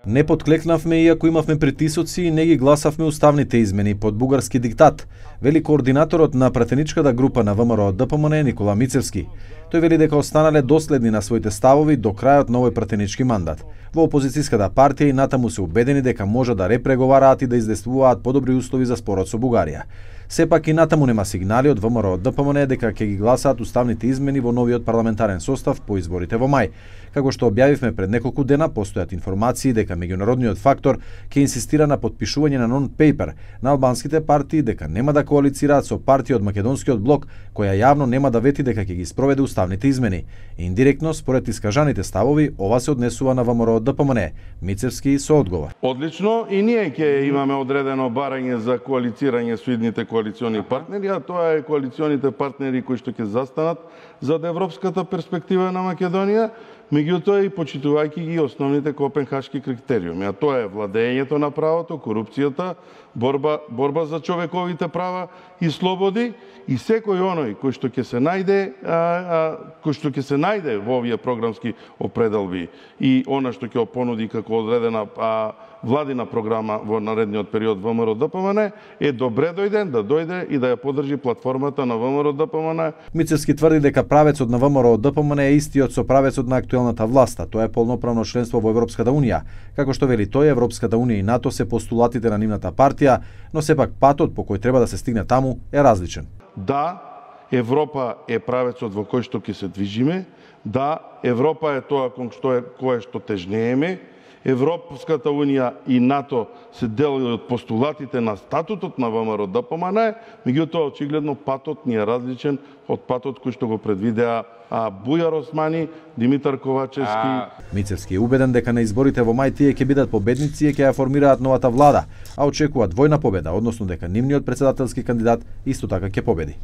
Не подклекнавме иако имавме притисоци и не ги гласавме уставните измени под бугарски диктат, вели координаторот на пратеничката група на ВМРО ДПМН Никола Мицевски. Тој вели дека останале доследни на своите ставови до крајот на овој пратенички мандат. Во опозицијската партија и натаму се убедени дека може да репреговараат и да издействуваат подобри услови за спорот со Бугарија. Сепак и натаму нема сигнали од ВМРО ДПМН дека ќе ги гласаат уставните измени во новиот парламентарен состав по изборите во мај. Како што објавивме пред неколку дена, постојат информации дека меѓународниот фактор ќе инсистира на потпишување на нон-пейпер на албанските партии дека нема да коалицираат со партија од македонскиот блок, која јавно нема да вети дека ќе ги спроведе уставните измени. Индиректно, според искажаните ставови, ова се однесува на ВМРО ДПМН. Мицевски со одговор. Одлично, и ние ќе имаме одредено барање за коалицирање со идните коалициони партнери, а тоа е коалиционите партнери кои што ќе застанат зад европската перспектива на Македонија, меѓутоа и почитувајќи ги основните копенхашки критериуми, а тоа е владењето на правото, корупцијата, борба за човековите права и слободи, и секој оној кој што ќе се најде во овие програмски определби и она што ќе понуди како одредена владина програма во наредниот период ВМРО ДПМН е добре дојден да дојде и да ја поддржи платформата на ВМРО ДПМН. Мицевски тврди дека правецот на ВМРО ДПМН е истиот со правецот на актуелната власт, тоа е полноправно членство во Европската унија. Како што вели тој, Европската унија и НАТО се постулатите на нивната партија, но сепак патот по кој треба да се стигне таму е различен. Да, Европа е правецот во кој што ќе се движиме. Да, Европа е тоа кое што тежнееме. Европската унија и НАТО се дели од постулатите на статутот на ВМРО ДПМН, меѓутоа очигледно патот ни е различен од патот кој што го предвидеа Бујар Османи, Димитар Ковачевски. Мицевски е убеден дека на изборите во мај тие ќе бидат победници и ќе ја формираат новата влада, а очекуваат двојна победа, односно дека нивниот претседателски кандидат исто така ќе победи.